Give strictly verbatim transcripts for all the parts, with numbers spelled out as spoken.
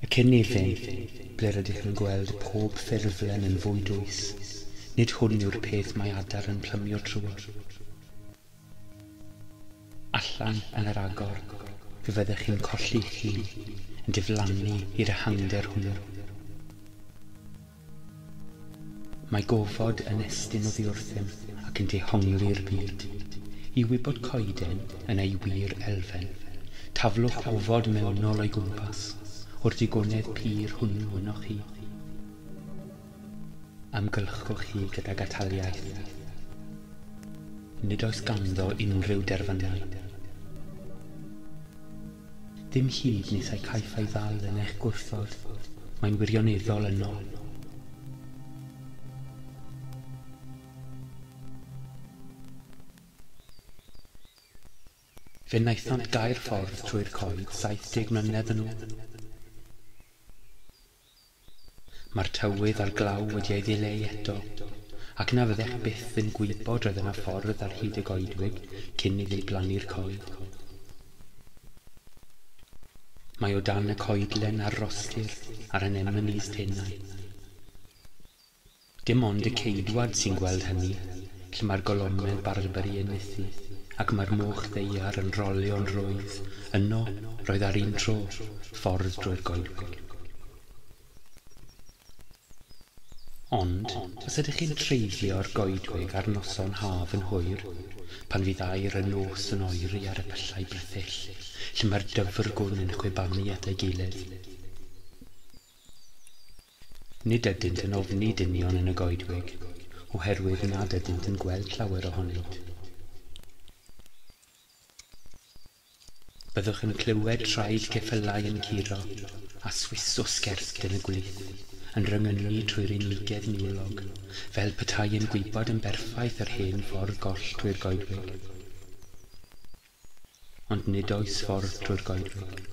Y cynefin, ble rydych yn gweld pob ffurflen yn fwy dwys, nid hwn yw'r peth mae adar yn plymio trwodd. Allan yn yr agor, fe fyddech chi'n colli'ch hun, yn diflannu i'r ehangder hwnnw. Mae gofod yn estyn oddi wrthym ac yn dehongli'r byd. I wybod coeden yn ei wir elfen, taflwch ofod mewnol o'i gwmpas, o'r digonedd pur hwnnw ynoch chi. Amgylchwch chi gydag ataliaeth. Nid oes ganddo unrhyw derfynau. Ddim hyd nes ei caiff ei ddal yn eich gwrthod, mae'n wirioneddol yno. Fe wnaethant gau'r ffordd trwy'r coed saith deg mlynedd yn ôl. Mae'r tywydd a'r glaw wedi ei ddileu eto, ac na fyddech byth yn gwybod roedd yna ffordd ar hyd y goedwig cyn iddi blannu'r coed. Mae o dan y coedlen a'r rostir a'r anemones tenau. Dim ond y ceidwad sy'n gweld hynny, lle mae'r golomedd barbari yn nythu, ac mae'r moch ddaear yn rolio'n rwydd. Yno, roedd ar un tro, ffordd drwy'r goedwig. Ond, os ydych chi'n treiddio'r goedwig ar noson haf yn hwyr, pan fydd aer y nos yn oeri ar y pyllau brithyll, lle mae'r dyfrgwn yn chwibanu at ei gilydd. Nid ydynt yn ofni dynion yn y goedwig, oherwydd nad ydynt yn gweld llawer ohonynt. Byddwch yn clywed traed ceffylau yn curo, a swis o sgert yn y gwlith, yn rhyngynnu trwy'r unigedd niwlog, fel petai yn gwybod yn berffaith yr hen ffordd goll trwy'r goedwig. Ond nid oes ffordd trwy'r goedwig.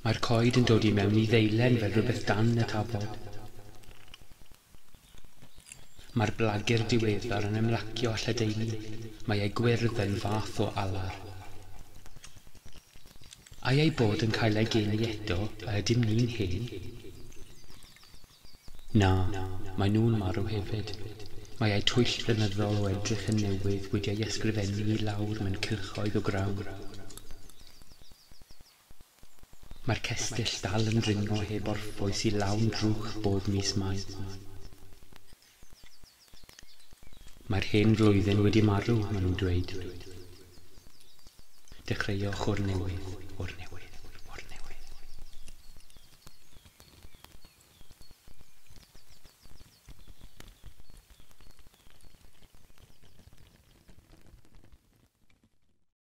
Mae'r coed yn dod i mewn i ddeilen fel rhywbeth dan y tafod. Mae'r blagur diweddar yn ymlacio a lledaenu. Mae ei gwyrdd yn fath o alar. Ai ei bod yn cael ei geni eto, a ydym ni'n hen? Na, mae nhw'n marw hefyd. Mae eu twyll flynyddol o edrych yn newydd wedi ei ysgrifennu i lawr mewn cylchoedd o grawn. Mae'r cestyll dal yn dringo heb orffwys i lawn drwch bob mis Mai. Mae'r hen flwyddyn wedi marw, maen nhw'n dweud. Dechreuwch o'r newydd.